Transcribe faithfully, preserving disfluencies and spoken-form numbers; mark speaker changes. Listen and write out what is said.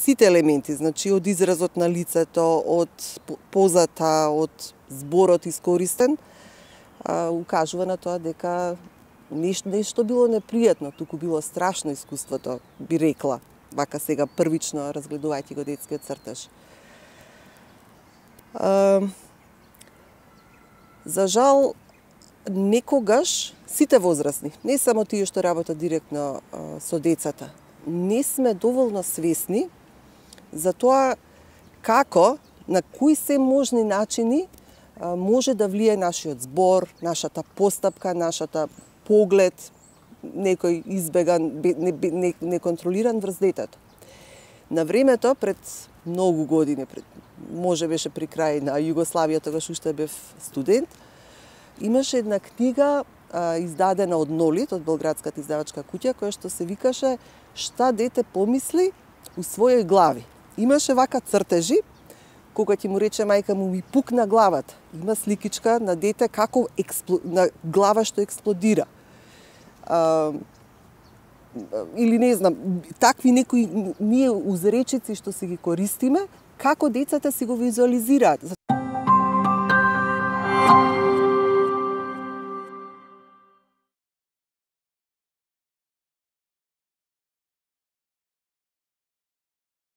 Speaker 1: сите елементи, значи од изразот на лицето, од позата, од зборот искористен, укажува на тоа дека нешто, нешто било непријатно, туку било страшно искуството, би рекла, вака сега првично разгледувајќи го детскиот цртеж. За жал, некогаш сите возрастни, не само тие што работат директно со децата, не сме доволно свесни за тоа како, на кои се можни начини може да влие нашиот збор, нашата постапка, нашата поглед, некој избеган, неконтролиран врз детето. На времето, пред многу години, пред, може беше при крај на Југославија, тогаш уште бев студент, имаше една книга а, издадена од Нолит, од Белградската издавачка куќа, која што се викаше "Шта дете помисли у својој глави". Имаше вака цртежи, кога ќе му рече мајка му ми пукна главата. Има сликичка на дете како експло... на глава што експлодира. А, или не знам, такви некои ние узречици што си ги користиме, како децата си го визуализираат.